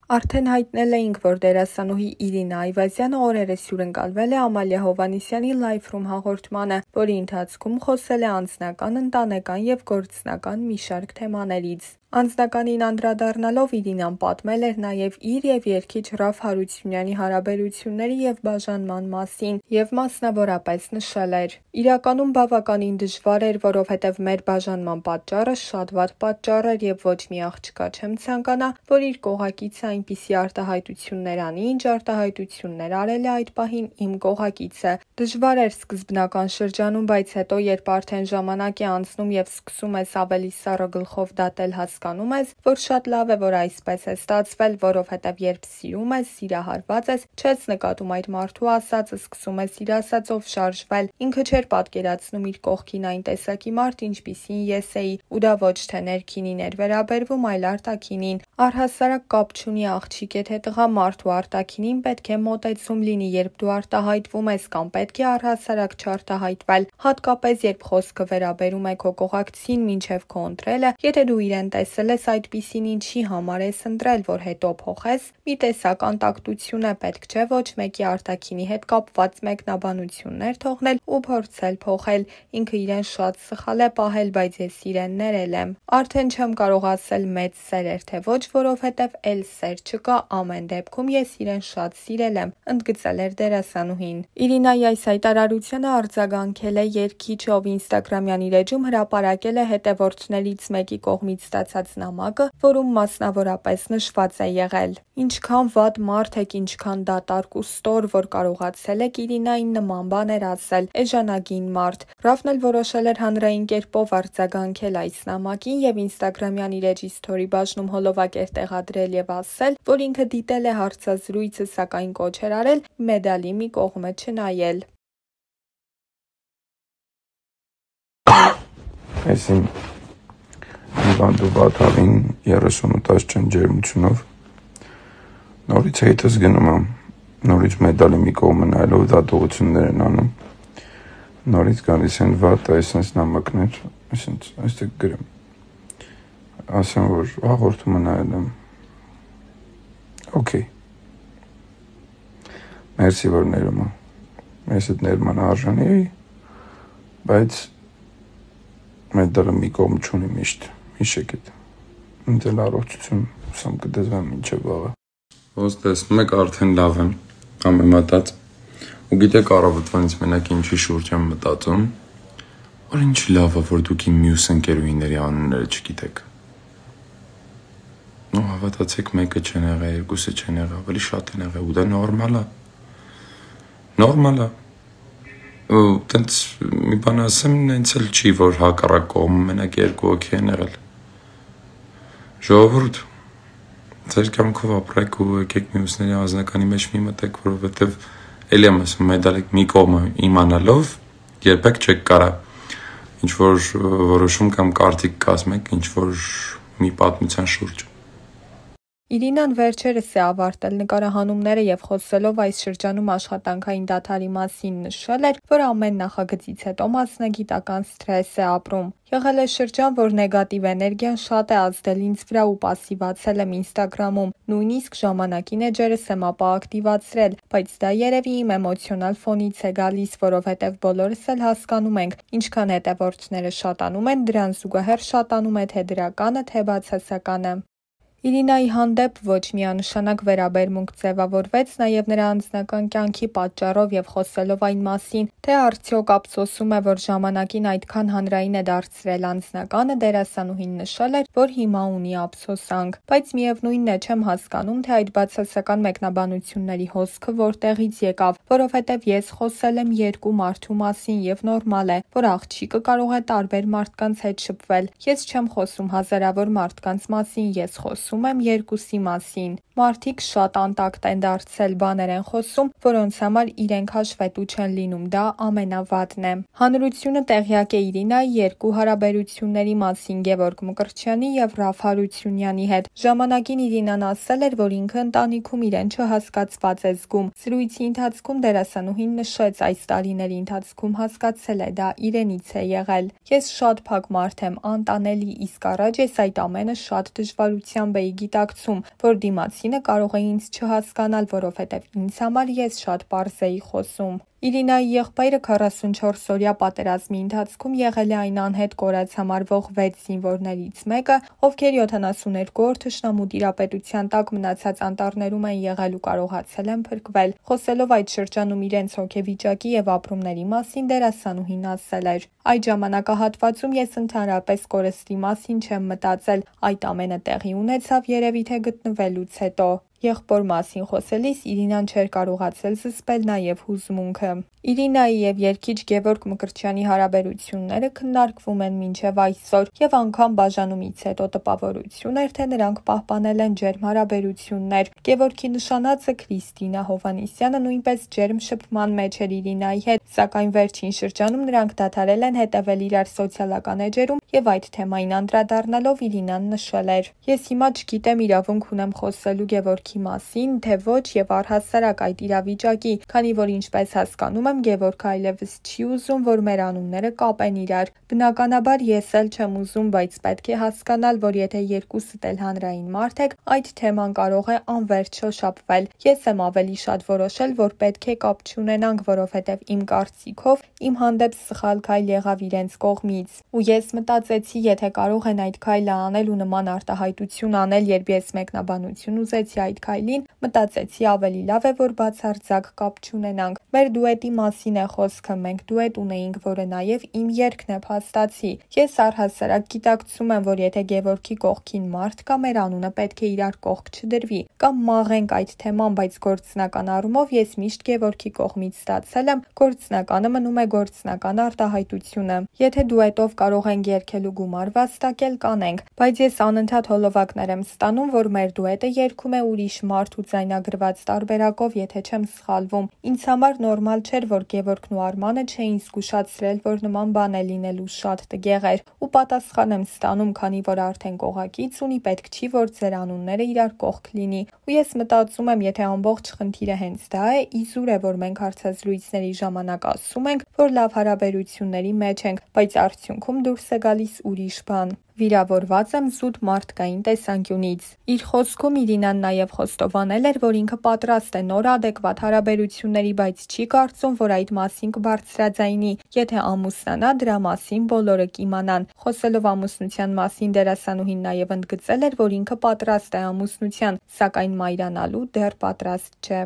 Արդեն հայտնել էինք, որ դերասանուհի Իրինա Այվազյանը օրերս հյուրընկալվել է Ամալիա Հովհաննիսյանի Live Room հաղորդմանը, որի ընթացքում խոսել է անձնական, ընտանեկան և գործնական մի շարք թեմաներից։ Անձնականին անդրադառնալով Իրինան պատմել էր նաև իր և երգիչ Ռաֆ Հարությունյանի հարաբերությունների և բաժանման մասին և մասնավորապես նշել էր. «Իրականում բավականին դժվար էր, որովհետև մեր բաժանման պատճառը շատ վատ պատճառ էր և ոչ մի աղջկա չեմ ցանկանա, որ իր կողակիցը այնպիսի արտահայտություններ անի, ինչ արտահայտություններ արել է այդ պահին իմ կողակիցը։ Դժվար էր սկզբնական շրջանում, բայց հետո, երբ արդեն ժամանակ է անցնում և սկսում ես ավելի սառը գլխով դատել, հասկանում ես, որ շատ լավ է, որ այսպես է ստացվել, որովհետև երբ սիրում ես, սիրահարված ես, չես նկատում այդ մարդու ասածը, սկսում ես իր ասածով շարժվել։ Ինքը չէր պատկերացնում իր կողքին այն տեսակի մարդ, ինչպիսին ես էի, ու դա ոչ թե ներքինին էր վերաբերվում, այլ արտաքինին։ Առհասարակ կապ չունի աղջիկ է թե տղա, մարդու արտաքինին պետք է մոտեցում լինի, երբ դու արտահայտվում ես կամ պետք է առհասարակ չարտահայտվել, հատկապես երբ խոսքը վերաբերում է քո կողակցին մինչև քո ընտրելը, եթե դու իրեն տեսել ես այդպիսին, ինչի համար ես ընտրել, որ հետո փոխես, մի տեսակ անտակտություն է պետք, չէ, ոչ մեկի արտաքինի հետ կապված մեկնաբանություններ թողնել ու փորձել փոխել։ Ինքը իրեն շատ սխալ է պահել, բայց ես իրեն ներել եմ։ Արդեն չեմ կարող ասել մեծ սեր էր թե ոչ, որովհետև էլ սեր չկա, ամեն դեպքում ես իրեն շատ սիրել եմ», ընդգծել էր դերասանուհին։ Իրինայի այս հայտարարությանը արձագանքել է երգիչ, ով ինստագրամյան իր էջում հրապարակել է հետևորդներից մեկի կողմից ստացած նամակը, որում մասնավորապես նշված է եղել. «Ինչքան վատ մարդ եք, ինչքան դատարկ ու ստոր, որ կարողացել եք Իրինային նման բաներ ասել, էժանագին մարդ»։ Ռաֆն էլ որոշել էր հանրային կերպով արձագանքել այս նամակին և ինստագրամյան իր էջի սթորի բաժնում հոլովակեր տեղադրել և ասել, որ ինքը դիտել է հարցազրույցը, սակայն կոչ էր արել մեդալի մի կողմը չնայել։ Այս իմ հիվանդու Վաթավին 38 չն ջերմությունով նորից հետս գնում եմ, նորից մեդալի մի կողմը նայելով դատողություններ են անում, նորից գալիս են վատ այսպես նամակներ, այստեղ գրեմ, ասեմ, որ հաղորդումը նայել եմ, օքեյ, մերսի, որ ներում եմ, ես այդ ներման արժանի էի, բայց մեդալը մի կողմ չունի միշտ, հիշեք էդ, ինձ էլ առողջություն, ուսամ կդեզվեմ մինչև վաղը։ Ոնց տեսնում եք, արդեն լավ եմ, համեմատած, ու գիտեք առավոտվանից մենակ ինչի շուրջ եմ մտածում, որ ինչ լավ է, որ դուք իմ մյուս ընկերուհիների անունները չգիտեք։ Ու հավատացեք, մեկը չեն եղել, երկուսը չեն եղել, ավելի շատ են եղել, ու դա նորմալ է։ Նորմալ է։ Ու տենց մի բան ասեմ, նենց էլ չի, որ հակառակ կողմը մենակ երկու հոգի են եղել։ Ժողովուրդ, ձեր կյանքով ապրեք ու եկեք մյուսների անձնականի մեջ մի մտեք, որովհետև էլի եմ ասում, մեդալի մի կողմը իմանալով երբեք չեք կարա ինչ-որ որոշում կամ կարծիք կազմեք ինչ-որ մի պատմության շուրջ։ Իրինան վերջերս է ավարտել նկարահանումները և խոսելով այս շրջանում աշխատանքային դադարի մասին նշել էր, որ ամեն նախագծից հետո մասնագիտական սթրես է ապրում։ Եղել է շրջան, որ նեգատիվ էներգիան շատ է ազդել ինձ վրա ու պասիվացել եմ ինստագրամում, նույնիսկ ժամանակին էջերս եմ ապա ակտիվացրել, բայց դա երևի իմ էմոցիոնալ ֆոնից է գալիս, որովհետև բոլորս էլ հասկանում ենք, ինչքան հետևորդները շատանում են, դրան զուգահեռ շատանում է թե դրականը, թե բացասականը։ Իրինայի հանդեպ ոչ միանշանակ վերաբերմունք ձևավորվեց նաև նրա անձնական կյանքի պատճառով և խոսելով այն մասին, թե արդյոք ափսոսում է, որ ժամանակին այդքան հանրային է դարձրել անձնականը, դերասանուհին նշել էր, որ հիմա ունի ափսոսանք, բայց միևնույնն է չեմ հասկանում, թե այդ բացասական մեկնաբանությունների հոսքը որտեղից եկավ, որովհետև ես խոսել եմ երկու մարդու մասին և նորմալ է, որ աղջիկը կարող է տարբեր մարդկանց հետ շփվել, ես չեմ խոսում հազարավոր մարդկանց մասին, ես խոսում եմ երկուսի մասին։ Մարդիկ շատ անտակտ են դարձել, բաներ են խոսում, որոնց համար իրենք հաշվետու չեն լինում, դա ամենավատն է։ Հանրությունը տեղյակ է Իրինայի երկու հարաբերությունների մասին Գևորգ Մկրտչյանի և Ռաֆ Հարությունյանի հետ։ Ժամանակին Իրինան ասել էր, որ ինքը ընտանիքում իրեն չհասկացված է զգում։ Զրույցի ընթացքում դերասանուհին նշեց, այս տարիների ընթացքում հասկացել է, դա իրենից է եղել։ Ես շատ փակ մարդ եմ, անտանելի, իսկ առաջ ես այդ ամենը շատ դժվարությամբ էի ունեի գիտակցում, որ դիմացինը կարող է ինձ չհասկանալ, որովհետև ինձ համար ես շատ պարզ էի խոսում։ Իրինայի եղբայրը 44-օրյա պատերազմի ընթացքում եղել է այն անհետ կորած համարվող 6 զինվորներից մեկը, ովքեր 72 օր թշնամու տիրապետության տակ մնացած անտառներում են եղել ու կարողացել են փրկվել։ Խոսելով այդ շրջանում իրենց հոգեվիճակի և ապրումների մասին, դերասանուհին ասել էր. «Այդ ժամանակահատվածում ես ընդհանրապես կորստի մասին չեմ մտածել, այդ ամենը տեղի ունեցավ երևի թե գտնվելուց հետո»։ Եղբոր մասին խոսելիս Իրինան չէր կարողացել զսպել նաև հուզմունքը։ Իրինայի և երգիչ Գևորգ Մկրտչյանի հարաբերությունները քննարկվում են մինչև այսօր, և անգամ բաժանումից հետո տպավորություն էր, թե նրանք պահպանել են ջերմ հարաբերություններ։ Գևորգի նշանածը Քրիստինա Հովհաննիսյանը նույնպես ջերմ շփման մեջ էր Իրինայի հետ, սակայն վերջին շրջանում նրանք դադարել են հետևել իրար սոցիալական էջերում, և այդ թեմային անդրադառնալով Իրինան նշել էր. «Ես հիմա չգիտեմ իրավունք ունեմ խոսելու Գևորգի մասին, թե ոչ և առհասարակ այդ իրավիճակի, քանի որ ինչպես հասկանում եմ Գևորգը այլևս չի ուզում, որ մեր անունները կապեն իրար։ Բնականաբար ես էլ չեմ ուզում, բայց պետք է հասկանալ, որ եթե երկուսդ էլ հանրային մարդ եք, այդ թեման կարող է անվերջ շոշափվել։ Ես եմ ավելի շատ որոշել, որ պետք է կապ չունենանք, որովհետև իմ կարծիքով իմ հանդեպ սխալ քայլ եղավ իրենց կողմից։ Ու ես մտածեցի, եթե կարող են այդ քայլը անել ու նման արտահայտություն անել, երբ ես մեկնաբանություն ուզեցի այդ քայլին, մտածեցի ավելի լավ է, որ բացարձակ կապ չունենանք։ Մեր դուետի մասին է խոսքը, մենք դուետ ունեինք, որը նաև իմ երգն է, փաստացի։ Ես առհասարակ գիտակցում եմ, որ եթե Գևորգի կողքին մարդ կա, մեր անունը պետք է իրար կողք չդրվի, կամ մաղենք այդ թեման, բայց գործնական առումով ես միշտ Գևորգի կողմից ստացել եմ, գործնականը մնում է գործնական արտահայտությունը։ Եթե դուետով կարող ենք երգել ու գումար վաստակել, կանենք, բայց ես անընդհատ հոլովակներ եմ ստանում, որ մեր դուետը երգում է ուրիշ մարդ ու ձայնագրված տարբերակով, եթե չեմ սխալվում։ Ինձ համար նորմալ չէր, որ Գևորգն ու Արմանը չէին զգուշացրել, որ նման բան է լինելու, շատ տգեղ էր, ու պատասխան եմ ստանում, քանի որ արդեն կողակից ունի, պետք չի, որ ձեր անունները իրար կողք լինի։ Ու ես մտածում եմ, եթե ամբողջ խնդիրը հենց դա է, իզուր է, որ մենք հարցազրույցների ժամանակ ասում ենք, որ լավ հարաբերությունների մեջ ենք, բայց արդյունքում դուրս է գալիս ուրիշ բան։ Վիրավորված եմ զուտ մարդկային տեսանկյունից։ Իր խոսքում Իրինան նաև խոստովանել էր, որ ինքը պատրաստ է նոր ադեկվատ հարաբերությունների, բայց չի կարծում, որ այդ մասին կբարձրաձայնի։ Եթե ամուսնանա, դրա մասին բոլորը կիմանան։ Խոսելով ամուսնության մասին, դերասանուհին նաև ընդգծել էր, որ ինքը պատրաստ է ամուսնության, սակայն մայրանալու դեռ պատրաստ չէ։